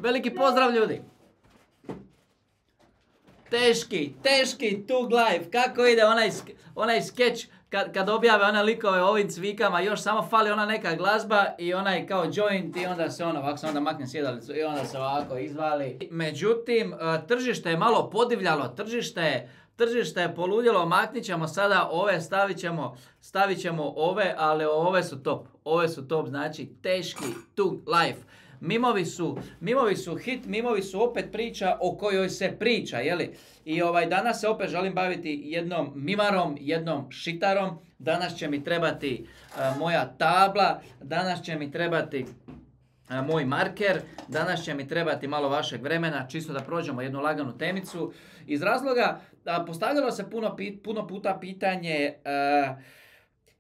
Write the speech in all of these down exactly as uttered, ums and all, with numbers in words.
Veliki pozdrav ljudi! Teški, teški Tug Life, kako ide onaj, onaj skeč kad, kad objave one likove o ovim cvikama, još samo fali ona neka glazba i onaj kao joint i onda se ono, ovako se onda makne sjedalicu i onda se ovako izvali. Međutim, tržište je malo podivljalo, tržište, tržište je poludjelo, maknit ćemo sada ove, stavit ćemo, stavit ćemo ove, ali ove su top, ove su top, znači teški Tug Life. Mimovi su, mimovi su hit, mimovi su opet priča o kojoj se priča, jeli? I ovaj, danas se opet želim baviti jednom mimarom, jednom šitarom. Danas će mi trebati uh, moja tabla, danas će mi trebati uh, moj marker, danas će mi trebati malo vašeg vremena, čisto da prođemo jednu laganu temicu. Iz razloga, uh, postavljalo se puno, pit, puno puta pitanje... Uh,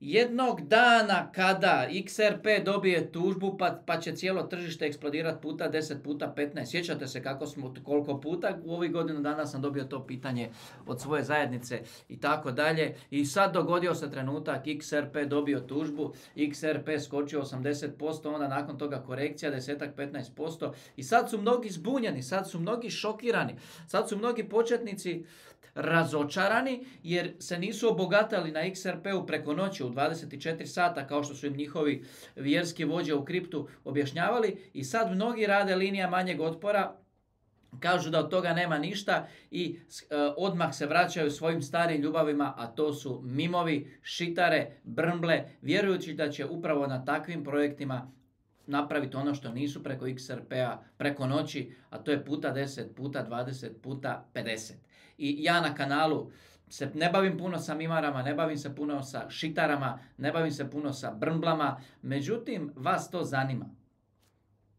Jednog dana kada X R P dobije tužbu pa, pa će cijelo tržište eksplodirati puta deset, puta petnaest. Sjećate se kako smo, koliko puta u ovih godinu dana sam dobio to pitanje od svoje zajednice i tako dalje. I sad dogodio se trenutak, X R P dobio tužbu, X R P skočio osamdeset posto, onda nakon toga korekcija deset do petnaest posto. I sad su mnogi zbunjeni, sad su mnogi šokirani, sad su mnogi početnici razočarani jer se nisu obogatali na X R P-u preko noći u dvadeset četiri sata kao što su im njihovi vjerski vođe u kriptu objašnjavali i sad mnogi rade linija manjeg otpora, kažu da od toga nema ništa i e, odmah se vraćaju svojim starim ljubavima, a to su mimovi, šitare, brmble, vjerujući da će upravo na takvim projektima napraviti ono što nisu preko X R P-a preko noći, a to je puta deset, puta dvadeset, puta pedeset. I ja na kanalu se ne bavim puno sa mimarama, ne bavim se puno sa šitarama, ne bavim se puno sa brmblama, međutim vas to zanima.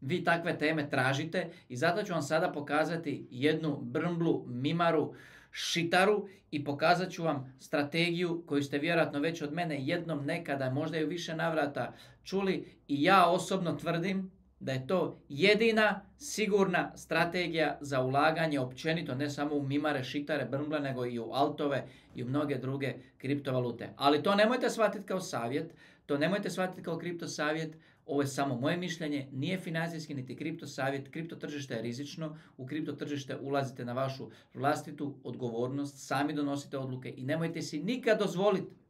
Vi takve teme tražite i zato ću vam sada pokazati jednu brmblu, mimaru, šitaru i pokazat ću vam strategiju koju ste vjerojatno već od mene jednom nekada, možda i u više navrata čuli i ja osobno tvrdim da je to jedina sigurna strategija za ulaganje općenito, ne samo u mimare, šitare, brmble, nego i u altove i u mnoge druge kriptovalute. Ali to nemojte shvatiti kao savjet, to nemojte shvatiti kao kripto savjet, ovo je samo moje mišljenje, nije financijski niti kripto savjet, kripto tržište je rizično, u kripto tržište ulazite na vašu vlastitu odgovornost, sami donosite odluke i nemojte si nikad dozvoliti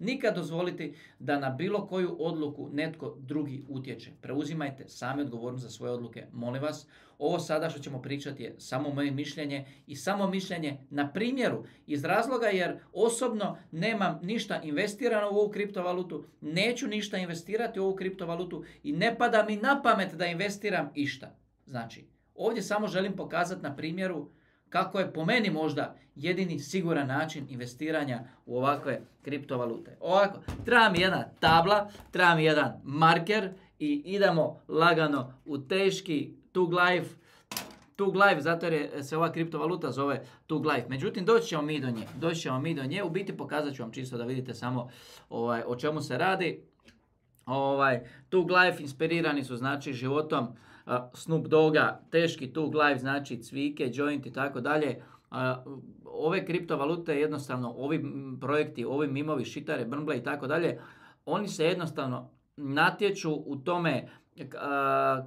Nikad dozvoliti da na bilo koju odluku netko drugi utječe. Preuzimajte sami odgovornost za svoje odluke, molim vas. Ovo sada što ćemo pričati je samo moje mišljenje i samo mišljenje na primjeru iz razloga jer osobno nemam ništa investirano u ovu kriptovalutu, neću ništa investirati u ovu kriptovalutu i ne pada mi na pamet da investiram išta. Znači, ovdje samo želim pokazati na primjeru kako je po meni možda jedini siguran način investiranja u ovakve kriptovalute. Ovako, treba mi jedna tabla, treba mi jedan marker i idemo lagano u teški Tug Life. Tug Life, zato jer se ova kriptovaluta zove Tug Life. Međutim, doći ćemo mi do nje. Doći ćemo mi do nje. U biti pokazat ću vam čisto da vidite samo ovaj, o čemu se radi. Ovaj, Tug Life inspirirani su znači životom uh, Snoop Dogga, teški Tug Life, znači cvike, joint i tako dalje. Ove kriptovalute jednostavno, ovi projekti, ovi mimovi, šitare, brmble i tako dalje, oni se jednostavno natječu u tome uh,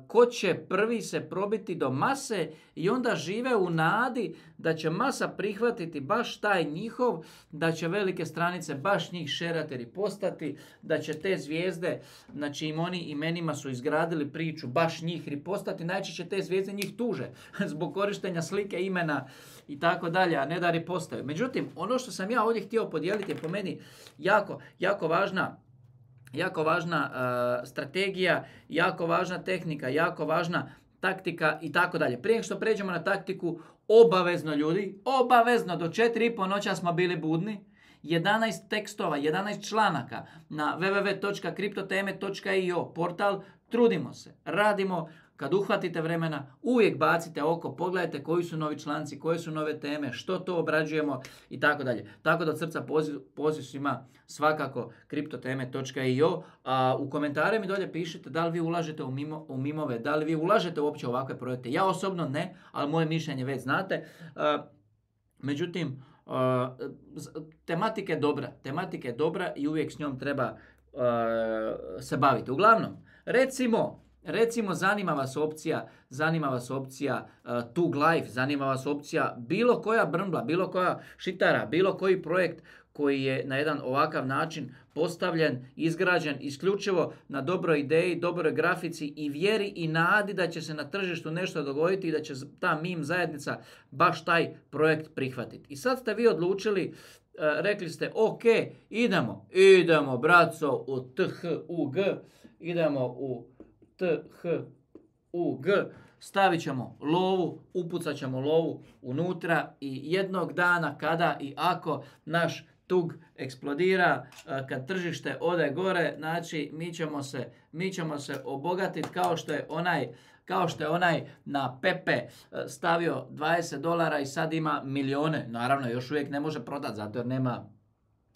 ko će prvi se probiti do mase i onda žive u nadi da će masa prihvatiti baš taj njihov, da će velike stranice baš njih šerati i postati, da će te zvijezde, na čijim oni imenima su izgradili priču, baš njih ripostati, najčešće te zvijezde njih tuže zbog korištenja slike, imena i tako dalje, a ne da ripostaju. Međutim, ono što sam ja ovdje htio podijeliti je po meni jako, jako važna Jako važna uh, strategija, jako važna tehnika, jako važna taktika i tako dalje. Prije što pređemo na taktiku, obavezno ljudi, obavezno do četiri i po noća smo bili budni, jedanaest tekstova, jedanaest članaka na w w w točka kriptoteme točka i o portal, trudimo se, radimo. Kad uhvatite vremena, uvijek bacite oko, pogledajte koji su novi članci, koje su nove teme, što to obrađujemo i tako dalje. Tako da od srca poziv, poziv svima svakako kriptoteme točka i o. A u komentare mi dolje pišite da li vi ulažete u, mimo, u mimove, da li vi ulažete uopće u ovakve projekte. Ja osobno ne, ali moje mišljenje već znate. Uh, međutim, uh, tematika je dobra, tematika je dobra i uvijek s njom treba uh, se baviti. Uglavnom, recimo, Recimo, zanima vas opcija, zanima vas opcija uh, Tug Life, zanima vas opcija bilo koja brmbla, bilo koja šitara, bilo koji projekt koji je na jedan ovakav način postavljen, izgrađen isključivo na dobroj ideji, dobroj grafici i vjeri i nadi da će se na tržištu nešto dogoditi i da će ta meme zajednica baš taj projekt prihvatiti. I sad ste vi odlučili, uh, rekli ste ok, idemo, idemo braco u T H U G, idemo u T H U G, stavit ćemo lovu, upucat ćemo lovu unutra i jednog dana kada i ako naš Tug eksplodira, kad tržište ode gore, znači mi ćemo se, mi ćemo se obogatiti kao što je onaj kao što je onaj na Pepe stavio dvadeset dolara i sad ima milijone. Naravno, još uvijek ne može prodati zato jer nema,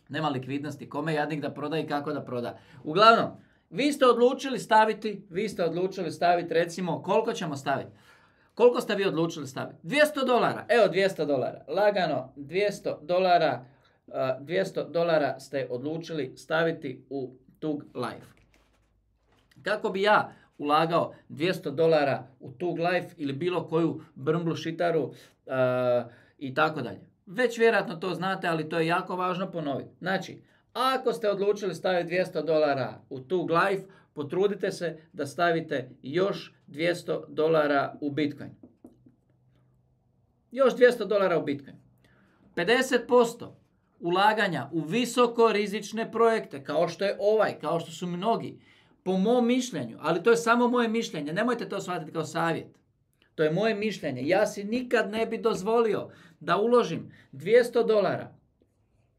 nema likvidnosti. Kome jadnik da proda i kako da proda. Uglavnom, vi ste odlučili staviti, vi ste odlučili staviti recimo, koliko ćemo staviti? Koliko ste vi odlučili staviti? dvjesto dolara, evo dvjesto dolara, lagano dvjesto dolara, uh, dvjesto dolara ste odlučili staviti u Tug Life. Kako bi ja ulagao dvjesto dolara u Tug Life ili bilo koju brmblu šitaru uh, i tako dalje? Već vjerojatno to znate, ali to je jako važno ponoviti. Znači, ako ste odlučili staviti dvjesto dolara u Tug Life, potrudite se da stavite još dvjesto dolara u Bitcoin. Još dvjesto dolara u Bitcoin. pedeset posto ulaganja u visoko rizične projekte, kao što je ovaj, kao što su mnogi, po mom mišljenju, ali to je samo moje mišljenje, nemojte to shvatiti kao savjet. To je moje mišljenje. Ja si nikad ne bi dozvolio da uložim dvjesto dolara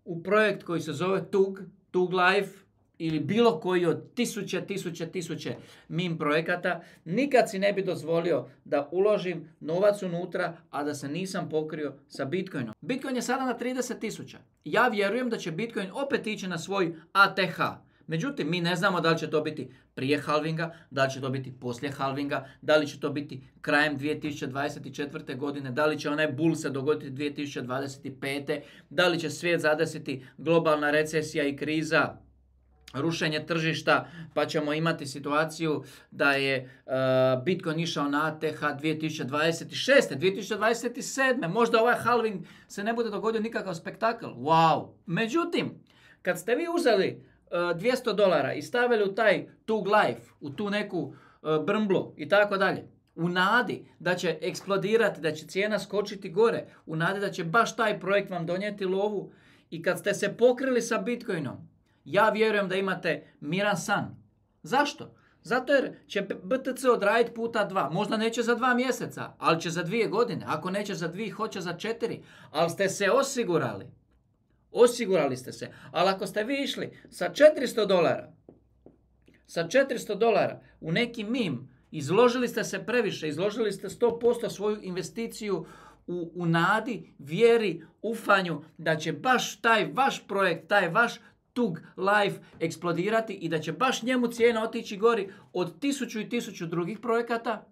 u projekt koji se zove Tug, Tug Life ili bilo koji od tisuće, tisuće, tisuće meme projekata. Nikad si ne bi dozvolio da uložim novac unutra, a da se nisam pokrio sa Bitcoinom. Bitcoin je sada na trideset tisuća. Ja vjerujem da će Bitcoin opet ići na svoj A T H. Međutim, mi ne znamo da li će to biti prije halvinga, da li će to biti poslije halvinga, da li će to biti krajem dvije tisuće dvadeset četvrte. godine, da li će onaj bull se dogoditi dvije tisuće dvadeset pete. da li će svijet zadesiti globalna recesija i kriza, rušenje tržišta, pa ćemo imati situaciju da je uh, Bitcoin išao na A T H dvije tisuće dvadeset šeste. dvije tisuće dvadeset sedme. Možda ovaj halving se ne bude dogodio nikakav spektakl. Wow! Međutim, kad ste vi uzeli dvjesto dolara i stavili u taj Tug Life, u tu neku uh, brmblu i tako dalje, u nadi da će eksplodirati, da će cijena skočiti gore, u nadi da će baš taj projekt vam donijeti lovu i kad ste se pokrili sa Bitcoinom, ja vjerujem da imate miran san. Zašto? Zato jer će B T C odraditi puta dva. Možda neće za dva mjeseca, ali će za dvije godine. Ako neće za dvije, hoće za četiri. Ali ste se osigurali. Osigurali ste se. Ali ako ste vi išli sa četiristo dolara, sa četiristo dolara u neki meme, izložili ste se previše, izložili ste sto posto svoju investiciju u, u nadi, vjeri, ufanju da će baš taj vaš projekt, taj vaš Tug Life eksplodirati i da će baš njemu cijena otići gori od tisuću i tisuću drugih projekata.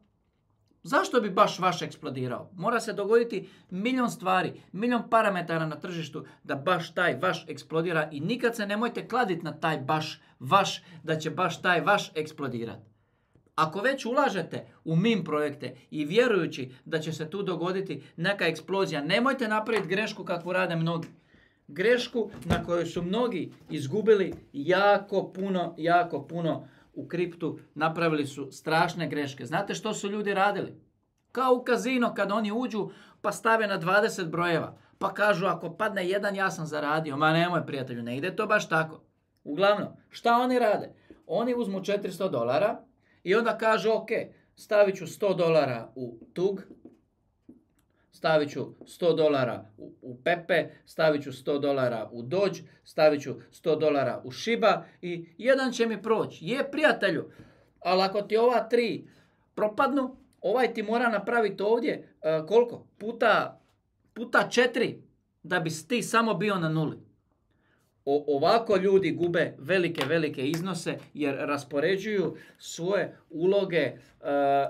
Zašto bi baš vaš eksplodirao? Mora se dogoditi milion stvari, milion parametara na tržištu da baš taj vaš eksplodira i nikad se nemojte kladiti na taj baš vaš, da će baš taj vaš eksplodirati. Ako već ulažete u meme projekte i vjerujući da će se tu dogoditi neka eksplozija, nemojte napraviti grešku kakvu rade mnogi. Grešku na kojoj su mnogi izgubili jako puno, jako puno u kriptu, napravili su strašne greške. Znate što su ljudi radili? Kao u kazino kad oni uđu pa stave na dvadeset brojeva. Pa kažu ako padne jedan ja sam zaradio. Ma nemoj prijatelju, ne ide to baš tako. Uglavnom, šta oni rade? Oni uzmu četiristo dolara i onda kažu ok, stavit ću sto dolara u Tug, stavit ću sto dolara u, u Pepe, stavit ću sto dolara u Doge, stavit ću sto dolara u Shiba i jedan će mi proći. Je prijatelju, ali ako ti ova tri propadnu, ovaj ti mora napraviti ovdje uh, koliko? Puta, puta četiri da bi ti samo bio na nuli. O, ovako ljudi gube velike, velike iznose jer raspoređuju svoje uloge uh,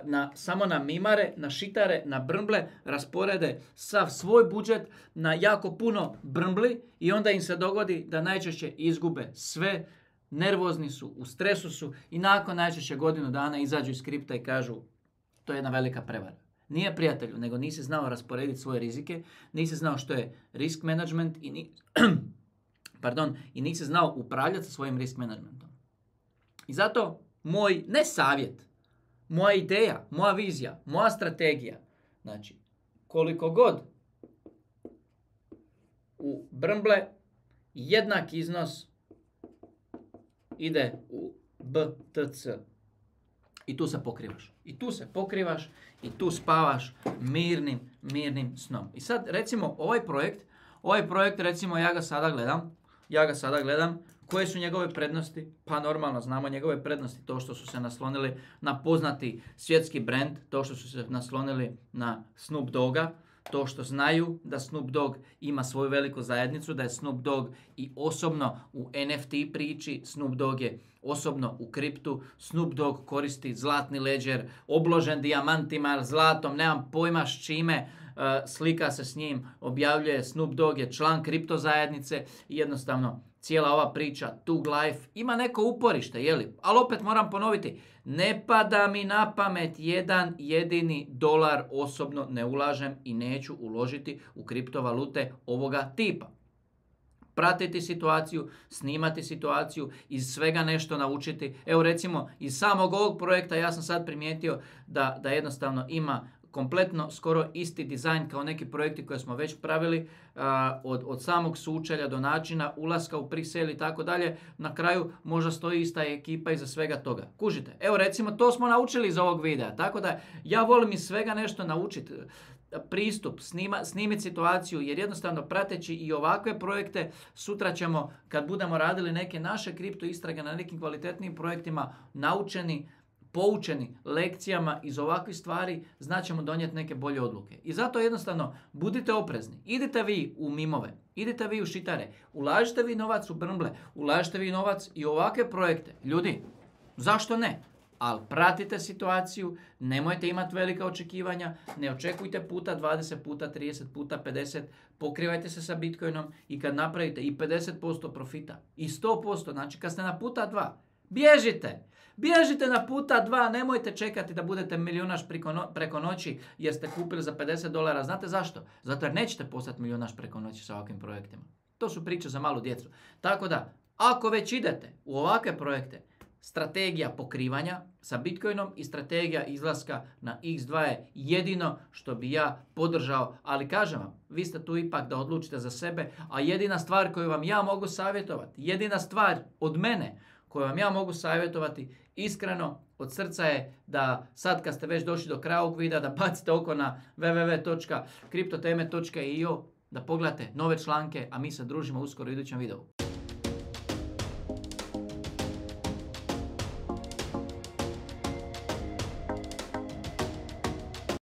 na, samo na mimare, na šitare, na brmble, rasporede sav svoj budžet na jako puno brmbli i onda im se dogodi da najčešće izgube sve, nervozni su, u stresu su i nakon najčešće godinu dana izađu iz kripta i kažu to je jedna velika prevara. Nije prijatelju, nego nisi znao rasporediti svoje rizike, nisi znao što je risk management i, ni, pardon, i nisi znao upravljati sa svojim risk managementom. I zato moj, ne savjet, moja ideja, moja vizija, moja strategija, znači koliko god u Brmble jednak iznos ide u B T C. I tu se pokrivaš. I tu se pokrivaš i tu spavaš mirnim, mirnim snom. I sad recimo ovaj projekt, ovaj projekt recimo ja ga sada gledam, ja ga sada gledam, koje su njegove prednosti? Pa normalno znamo njegove prednosti, to što su se naslonili na poznati svjetski brand, to što su se naslonili na Snoop Dogga, to što znaju da Snoop Dogg ima svoju veliku zajednicu, da je Snoop Dogg i osobno u N F T priči, Snoop Dogg je osobno u kriptu, Snoop Dogg koristi zlatni ledger, obložen dijamantima, zlatom, nemam pojma s čime, uh, slika se s njim, objavljuje, Snoop Dogg je član kripto zajednice i jednostavno cijela ova priča, Tug Life, ima neko uporište, jeli? Ali opet moram ponoviti, ne pada mi na pamet jedan jedini dolar osobno ne ulažem i neću uložiti u kriptovalute ovoga tipa. Pratiti situaciju, snimati situaciju, iz svega nešto naučiti. Evo recimo, iz samog ovog projekta ja sam sad primijetio da, da jednostavno ima kompletno skoro isti dizajn kao neki projekti koje smo već pravili, a, od, od samog sučelja do načina ulaska u pre-sale i tako dalje. Na kraju možda stoji ista ekipa iza svega toga. Kužite, evo recimo to smo naučili iz ovog videa, tako da ja volim iz svega nešto naučiti. Pristup, snima, snimiti situaciju, jer jednostavno prateći i ovakve projekte, sutra ćemo kad budemo radili neke naše kripto istrage na nekim kvalitetnim projektima, naučeni, poučeni lekcijama iz ovakvih stvari, znaćemo donijeti neke bolje odluke. I zato jednostavno budite oprezni. Idite vi u mimove, idite vi u šitare, ulažite vi novac u Brmble, ulažite vi novac i u ovakve projekte. Ljudi, zašto ne? Ali pratite situaciju, nemojte imati velika očekivanja, ne očekujte puta dvadeset, puta trideset, puta pedeset, pokrivajte se sa Bitcoinom i kad napravite i pedeset posto profita i sto posto, znači kad ste na puta dva, bježite! Bježite na puta dva, nemojte čekati da budete milijunaš preko, no, preko noći jer ste kupili za pedeset dolara. Znate zašto? Zato jer nećete postati milijunaš preko noći sa ovakvim projektima. To su priče za malu djecu. Tako da, ako već idete u ovakve projekte, strategija pokrivanja sa Bitcoinom i strategija izlaska na X dva je jedino što bi ja podržao, ali kažem vam, vi ste tu ipak da odlučite za sebe, a jedina stvar koju vam ja mogu savjetovati, jedina stvar od mene koju vam ja mogu savjetovati iskreno od srca je da sad kad ste već došli do kraja ovog videa da bacite oko na w w w točka kriptoteme točka i o da pogledate nove članke, a mi se družimo uskoro u idućem videu.